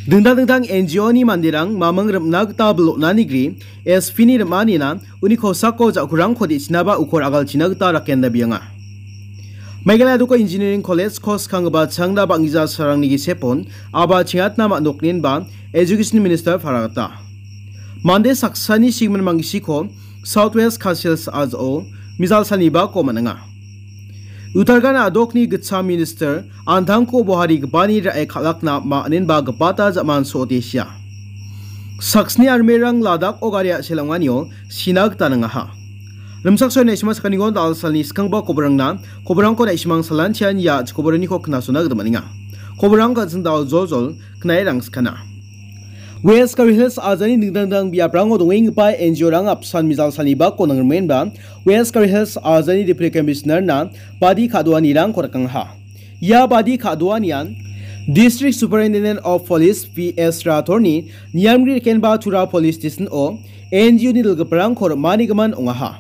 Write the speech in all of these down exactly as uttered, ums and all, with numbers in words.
Dingtang dingtang N G O-ni manderang maming rimna gita bilonani gri S P-ni rim·anina uni kosako ja·kurangko de·chinaba ukor agalchina gita raken dabienga. Meghalaya Doko Engineering College-ko skanggipa changna bang·gija sarangni gisepon aba chingatna man·dokninba Education Minister paragata. Mande saksani sigimin manggisiko South West Khasi Hills a·jao mijal salnibako man·enga. Uttarakhand a·dokni gitcham minister an·tangko boharigipani ra·e kal·akna ma·, aninba gipata ja·man so·ote sia. Saksni armerang Ladakh-o gari a·sel ong·anio sina gita nangaha. Rimchaksoe naisima sakaniko dal salni skangba koborangna, koborangko naisimang salantian ia koboraniko knasona gita man·enga. Koborang ka·sing dal joljol knae rangskana. West Khasi Hills a·jani dingtang dingtang biaprango dongenggipa N G O-rang apsan mijal salnibako nangrimenba West Khasi Hills a·jani Deputy Commissioner-na badi ka·doanirangko rikangaha. Ia badi ka·doanian District Superintendent of Police P S Rathore-ni niamgri rikenba Tura Police Station-o N G O-ni dilgiparangko rim·anigimin ong·aha.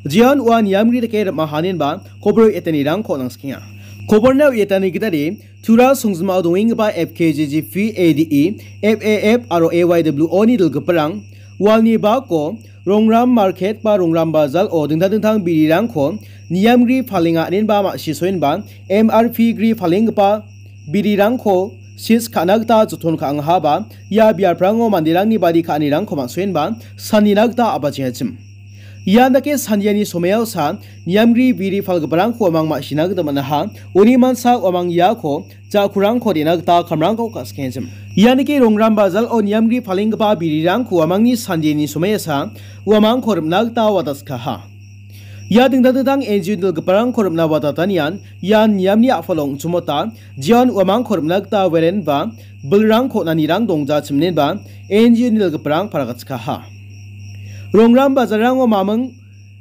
Jeon ua niamgri rike rim·ahaninba kobor etanirangko nangsikenga. Koborna uiatani gitade Tura songjinmao dongenggipa F K J G P A D E, F A F aro A Y W O-ni dilgiparang walni bako Rongram Market ba Rongram Bazar-o dingtang dingtang birirangko niamgri palenga aninba ma·sisoenba M R P gri palenggipa birirangko sis ka·na gita joton ka·angahaba ia biaprango manderangni badi ka·anirangko man·soenba sanina gita a·bachengachim. Ian dake sandiani somoiaosa niamgri biri palgiparangko uamang ma·sina gita man·aha. Uni mansa uamang iako ja·kurangko de·na gita kamrangko ka·sikengachim. Ianike Rongram Bazar-o niamgri palenggipa birirangko uamangni sandiani somoiasa uamangko rim·na gita wataskaha. Ia dingtang dingtang N G O dilgiparangko rim·na watatanian ian niamni a·palo ong·chimota, jeon uamangko rim·na gita werenba bilrangko nanirang dongjachimnenba N G O-ni dilgiparang paragatskaha. Rongram bazarango maming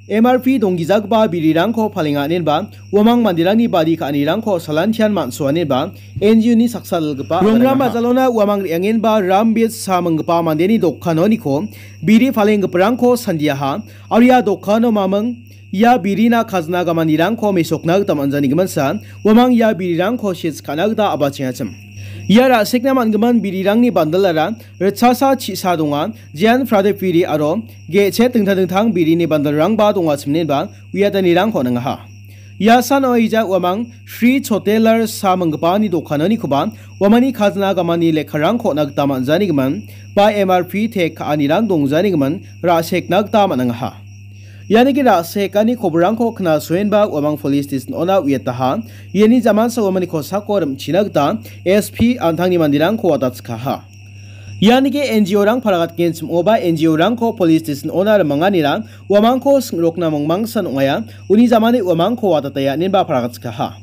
M R P donggijagipa birirangko palenga inenba uamang manderangni badi ka·anirangko salantian man·soanenba N G O-ni saksa dilgipa Rongram bajalona uamang re·angenba Rambit Sa minggipa mandeni dokanoniko biri palenggiparangko sandiaha, aro ia dokano maming ia birina kajna gamanirangko mesokna gita man·janigiminsa uamang ia birirangko sis ka·na gita a·bachengachim. Ia ra·sekna man·gimin birirangni bandalara ritchasa chi·sa donga, jean Prade biri aro ge·chet dingtang dingtang birini bandalrangba dongachiminenba uiatanirangko ningaha. Ia san oija uamang Sri Chotelar Sa minggipani dokanonikoba uamangni kajna gamani lekkarangko on·a gita man·janigimin ba M R P tek ka·anirang dongjanigimin ra·sekna gita man·angaha. Ianiki ra·sekani koborangko knasoenba uamang police station-ona uiataha. Iani jamansa uamangni kosako rim·china gita S P an·tangni manderangko watatskaha. Ianike N G O-rang paragatgenchim ong·oba N G O-rangko police station-ona rimanganira uamangko sing·rokna mangmangsan ong·aia, uni jamani uamangko watataia inenba paragatskaha.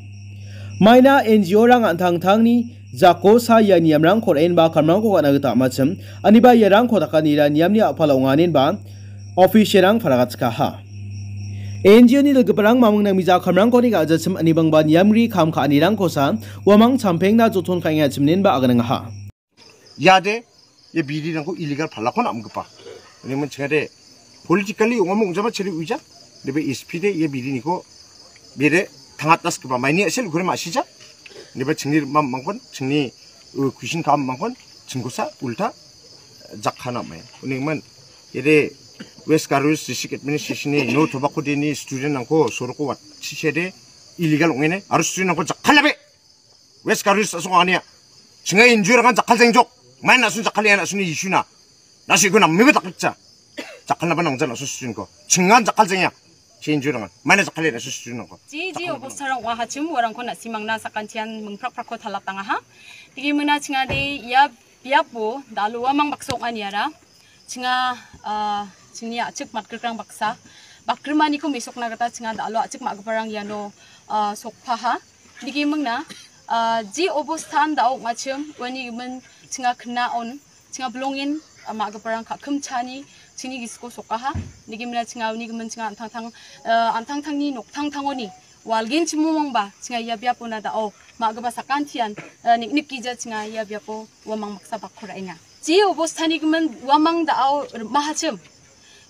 Maina N G O-rang an·tangtangni jako sa ia niamrangko ra·enba kamrangko ka·na gita am·achim, aniba iarangko dakanira niamni a·pala ong·a inenba official-rang paragatskaha. N G O-ni dilgiparang mamung nangmija kamrangkoni ka·jachim anibangba niamri kam ka·anirangkosa uamang champengna joton ka·engachim inenba aganangaha. Iade ia birirangko illegal palakon am·gipa. Uni min chingade politically ong·a mong·jaba chiri uija. Nebe S P de ia biriniko bere tangatasgipa maini a·sel ukure ma·sija. Nebe chingni rim·a mangkon, chingni, uh, kuisin ka·a mangkon, chingkosa ulta jakkana mai. Uni min ede West Garo Hills District Administration-ni no tobacco day-ni student-rangko soroko watchise de illegal ong·ene aro student-rangko jakkalabe. West Garo Hills a·song ania. Chinga injure kan jakal jengjok. Main nasun jakal ya nasun isuna. Nasi guna mibe taklikcha. Jakal naba nangja nasun sunko. Chinga jakal jengya. Chi injure kan. Main jakal ya nasun sunko. Ji, ji, obostarang ong·a hachim, uarangko na·simangna sakantian mingprak-prakko talap tangaha. Tigi mingna chingade ia biapo dal·o uamang baksa ong·aniara. Chinga, ah, chingni a·chik matgrikrang baksa. Bakrimaniko mesokna gita chinga dal·o a·chik ma·giparang iano, ah, sokpaha. Nigimingna, ah, ji obostan da·o ong·achim, uani gimin chinga knaon, chinga bilongen, ah, ma·giparang ka·kimchani chingni gisiko sokaha. Nigimina chinga uni gimin chinga an·tangtang, ah, an·tangtangni noktangtangoni walgenchimumongba chinga ia biapona da·o ma·gipa sakantian, ah, niknikgija chinga ia biapo uamang baksa bakko ra·enga. Je obostani gimin uamang da·o rim·ahachim.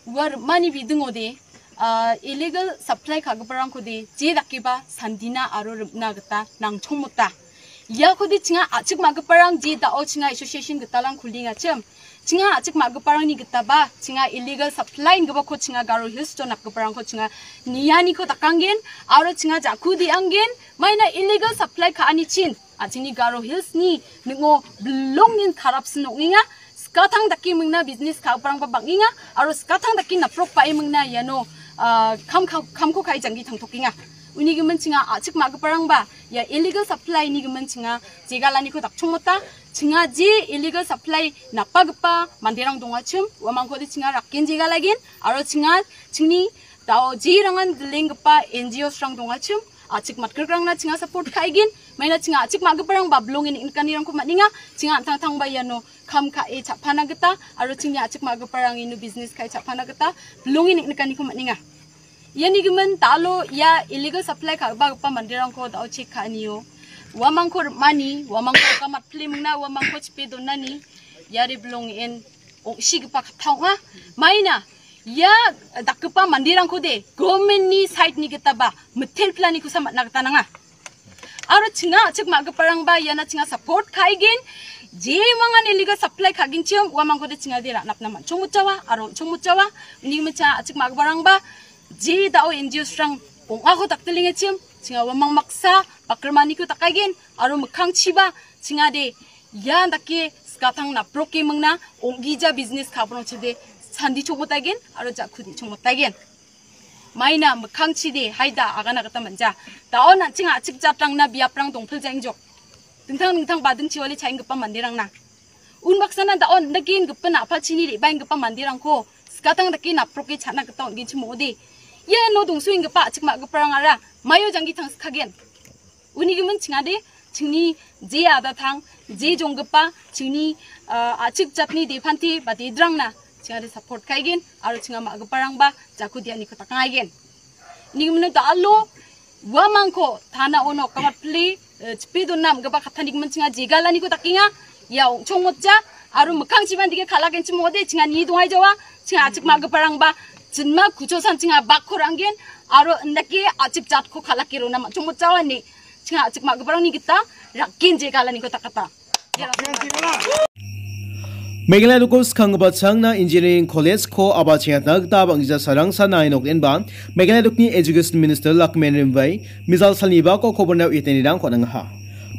Ua rim·ani bidingode, ah, illegal supply ka·giparangkode je dakeba sandina aro rim·na gita nangchongmota. Iakode chinga a·chik ma·giparang je dao chinga association gitalrang kuliengachim. Chinga a·chik ma·giparangni gitaba, chinga illegal supply ingipako chinga Garo Hills-o napgiparangko chinga nianiko dakanggen, aro chinga ja·ku de·anggen, maina illegal supply ka·anichin, a·chingni Garo Hills-ni ning·o bilongnin karapsin ong·enga, skatang dake mingna business ka·giparangba bang·enga, aro skatang dake naprok ba·e mingna iano, ah, kam ka-, kamko ka·e janggi tangtokenga. Uni gimin chinga a·chik ma·giparangba ia illegal supply-ni gimin chinga jegalaniko dakchongmota, chinga je illegal supply napagipa manderang dongachim, uamangkode chinga rakken jegalagen, aro chinga chingni dao jerangan dilenggipa N G Os-rang dongachim, a·chik matgrikrangna chinga support ka·egen, maina chinga a·chik ma·giparangba bilonge niknikanirangko man·enga, chinga an·tangtangba iano kam ka·e cha·pana gita, aro chingni a·chik ma·giparang ino business ka·e cha·pana gita bilonge niknikaniko man·enga. Iani gimin dalo ia illegal supply ka·gipa manderangko dao chek ka·anio. Uamangko rim·ani, uamangko gamatpile mingna, uamangko chipe donani, iare bilongen ong·sigipa katta ong·a. Maina, ia dakgipa manderangkode government-ni side-ni gitaba mitelplanikosa man·a gita nanga. Aro chinga a·chik ma·giparangba iana chinga support ka·egen, jemangan illegal supply ka·genchim, uamangkode chingade ra·napna man·chongmotjawa, aro on·chongmotjawa, uni gimin chinga a·chik ma·giparangba, je dao N G Os-rang ong·ako dakdilengachim, chinga uamang maksa bakrimaniko dakaigen, aro mikkangchiba chingade ia dake skatang naproke mingna ong·gija business ka·giparangchide sandi chongmotaigen, aro ja·ku de·chongmotaigen. Maina mikkangchide haida agana gita man·ja. Dao an·ching a·chik jatrangna biaprang dongpiljaengjok. Dingtang dingtang badingchiwale cha·enggipa manderangna. Unbaksana dao an·dake gipin a·palchini re·baenggipa manderangko skatang dake naproke cha·na gita on·genchim ong·ode. Iano dongsoenggipa a·chik ma·giparangara maio janggi tangskagen. Uni gimin chingade, chingni je adatang, je jonggipa, chingni, ah, a·chik jatni depante ba dedrangna chingade support ka·egen, aro chinga ma·giparangba jako dianiko dakangaigen. Uni gimin dalo uamangko tana ono kamatpile, eh, chipe donna am·gipa kattani gimin chinga jegalaniko dakenga, ia ong·chongmotja, aro mikkangchiban dike kal·agenchim ong·ode, chinga nie dongaijawa, chinga a·chik ma·giparangba jinma kuchosan chinga bakko ra·angen, aro indake a·chik jatko kal·ake rona man·chongmotjawa ine, chinga a·chik ma·giparangni gita rakken jegalaniko dakata. Meghalaya dokko skanggipa changna Engineering College-ko aba chengatna gita bang·gija sarangsa nainok enba Meghalaya dokni Education Minister Lakmen Rimbai mijal salnibako koborna uiatanirangko nangaha.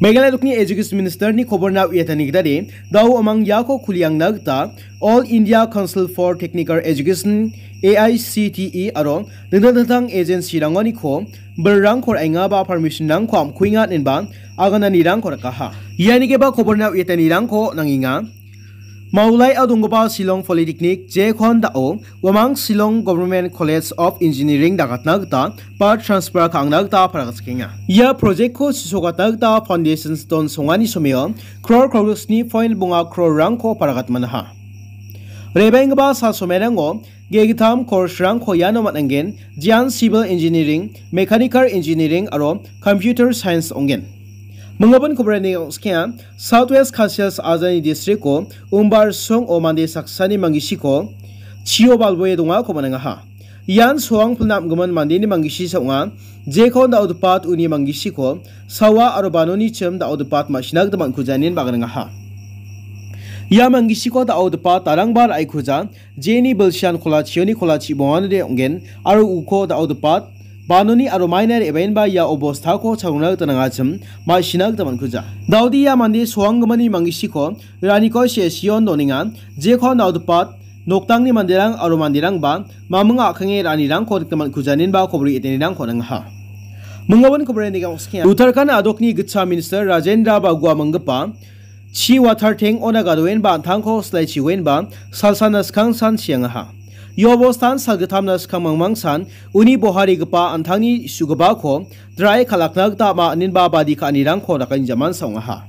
Meghalaya dokni Education Minister-ni koborna uiatani gitade dao amang iako kuliangna gita All India Council for Technical Education, A I C T E, aro dingtang dingtang agency-rangoniko bilrangko ra·enga ba permission-rangko am·kuenga inenba agananirangko rikaha. Ianigeba koborna uiatanirangko nangenga. Maulaio donggipa Shillong Polytechnic, jekon dao uamang Shillong Government College of Engineering dagatna gita ba transfer ka·angna gita paragatsakenga. Ia project-ko sisokatna gita foundation stone songani someo crore crore sni point bonga crore-rangko paragatmanaha. Rebenggipa sal somerango Gegittam course-rangko iano man·angen, jean civil engineering, mechanical engineering aro computer science ong·gen. Mingabin kobrani ongskenga, South West Khasi Hills ajani district-o Umbar song·o mande saksani manggisiko chio balboe dongako man·angaha. Ian soang pilna am·gimin mandeni manggisi sa ong·a. Jekon da·o dipat uni manggisiko sawa aro banoni chim da·o dipat ma·sina gita man·kujanin baganangaha. Ia manggisiko da·o dipat darangba ra·ikuja. Jeni bilsian kola chioni kola chibonganode ong·gen, aro uko da·o dipat, banoni aro maina re·baenba ia obostako chalona gita nangachim, ma·sina gita man·kuja. Daode ia mande soanggimani manggisiko, raniko se·sion donenga, jekon da·o dipat, noktangni manderang aro manderangba, maming a·kenge ra·anirangko nikna man·kujaninba kobori etenirangko nangaha. Mingabin kobori nega okskenga. Uttarakhand adokni gitcha minister Rajendra Bagua minggipa, Chi watar tank-ona gadoenba an·tangko silaichioenba salsanna skangsan chiangaha. Ia obostan salgittamna skang mangmangsan uni boharigipa an·tangni su·gipako drae kal·akna gita ama ininba badi ka·anirangko dakainjaman sa ong·aha.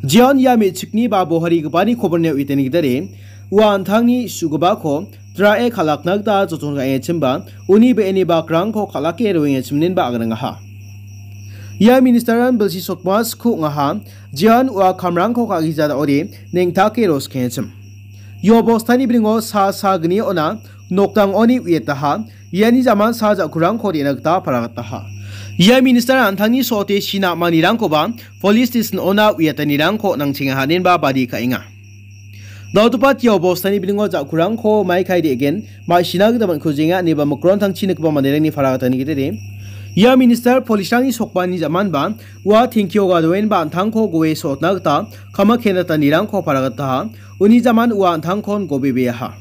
Jeon ia me·chikni ba boharigipani koborneo iteni gitade ua an·tangni su·gipako drae kal·akna gita joton ka·engachimba uni be·eni bakrangko kal·ake roengachiminenba aganangaha. Ia ministeran bilsi sotma sku ong·aha. Jeon ua kamrangko ka·gija da·ode neng·take roskengachim. Ia bostani bringo sa sa gni ona nokdangoni uietaha. Iani jaman sa ja·kurangko re·na gita paragataha. Ia minister an·tangni so·ote sina am·anirangkoba police station-ona uiatanirangko nangchenga haenba badi ka·enga. Dal·topat ia bostani bilingo ja·kurangko maikai de·gen ma·sina gita man·kujenga ineba mikron tangchi nikgipa manderangni para gatani gitede. Ia minister police-rangni sokbani jamanba ua tengkio gadoenba an·tangko goe so·otna gita kama kenatanirangko para gataha. Uni jaman ua an·tangkon gobebeaha.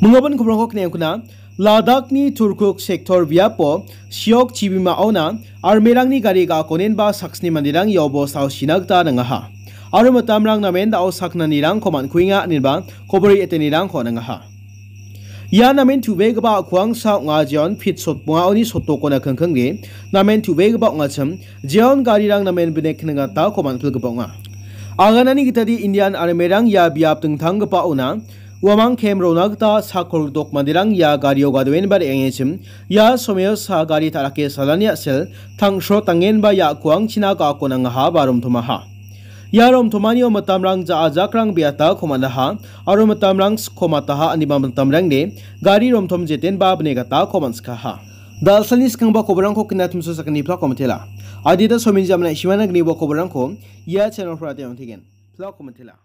Mingabin kobrangko kneangkuna, Ladakni Turkuk sektor biapo Siok chibimaona armerangni gari ga·akonenba saksni manderang ia bostao sina gita nangaha. Aro mitamrang namen da·o saknanirangko man·kuenga ineba kobori etenirangko nangaha. Ia namen tu·begipa a·kuangsa ong·a jeon pit sotbongaoni sotokona kingkingde namen tu·begipa ong·achim jeon garirang namen bine knengatako man·pilgipa ong·a. Aganani gitade Indian armerang ia biap dingtanggipaona uamang kem rona gita sakkolgdok manderang ia gario gadoenba re·angechim ia somoiosa gari ta·rake salani a·sel tang·srot dangenba ia a·kuangchina ga·ako nangaha ba romtomaha. Ia romtomanio mitamrang ja·ajakrang beatako man·aha aro mitamrang siko mataha ineba mitamrangde gari romtom jetenba bine gatako man·sikaha. Dal·salni skangba koborangko knatimso sakgni plako mitela. Adita somin jamna ishimana gnibo koborangko ia channel pora teng·ongtegen. Plako mitela.